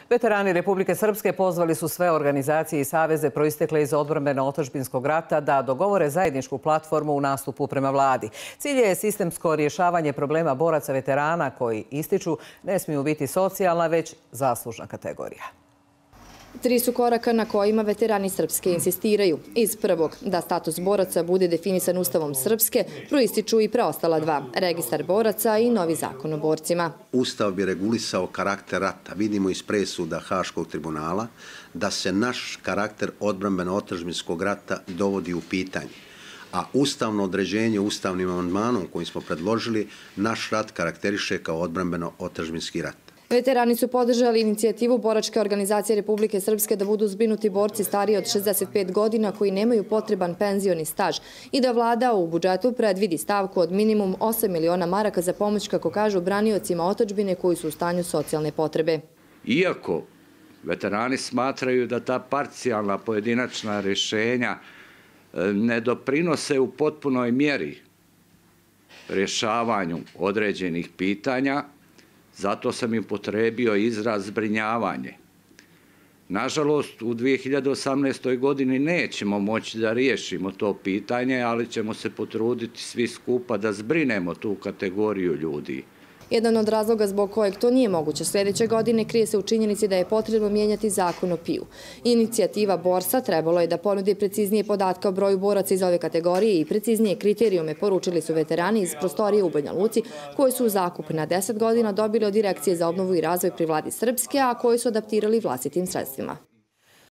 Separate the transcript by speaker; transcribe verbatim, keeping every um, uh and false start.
Speaker 1: Veterani Republike Srpske pozvali su sve organizacije i saveze proistekle iz odbrambeno-otadžbinskog rata da dogovore zajedničku platformu u nastupu prema vladi. Cilj je sistemsko rješavanje problema boraca veterana koji, ističu, ne smiju biti socijalna, već zaslužna kategorija.
Speaker 2: Tri su koraka na kojima veterani Srpske insistiraju. Iz prvog, da status boraca bude definisan Ustavom Srpske, proističu i preostala dva, registar boraca i novi zakon o borcima.
Speaker 3: Ustav bi regulisao karakter rata. Vidimo iz presuda Haškog tribunala da se naš karakter odbrambeno-otadžbinskog rata dovodi u pitanje. A ustavno određenje ustavnim amandmanom koji smo predložili, naš rat karakteriše kao odbrambeno-otadžbinski rat.
Speaker 2: Veterani su podržali inicijativu Boračke organizacije Republike Srpske da budu zbrinuti borci stariji od šezdeset pet godina koji nemaju potreban penzioni staž i da vlada u budžetu predvidi stavku od minimum osam miliona maraka za pomoć, kako kažu, braniocima otadžbine koji su u stanju socijalne potrebe.
Speaker 4: Iako veterani smatraju da ta parcijalna pojedinačna rješenja ne doprinose u potpunoj mjeri rješavanju određenih pitanja, zato sam im potrebio izraz zbrinjavanje. Nažalost, u dvije hiljade osamnaestoj. godini nećemo moći da riješimo to pitanje, ali ćemo se potruditi svi skupa da zbrinemo tu kategoriju ljudi.
Speaker 2: Jedan od razloga zbog kojeg to nije moguće sljedeće godine krije se u činjenici da je potrebno mijenjati zakon o P I U. Inicijativa Borsa trebalo je da ponudi preciznije podatke o broju boraca iz ove kategorije i preciznije kriterijume, poručili su veterani iz prostorije u Banja Luci, koji su u zakup na deset godina dobili od Direkcije za obnovu i razvoj pri vladi Srpske, a koji su adaptirali vlastitim sredstvima.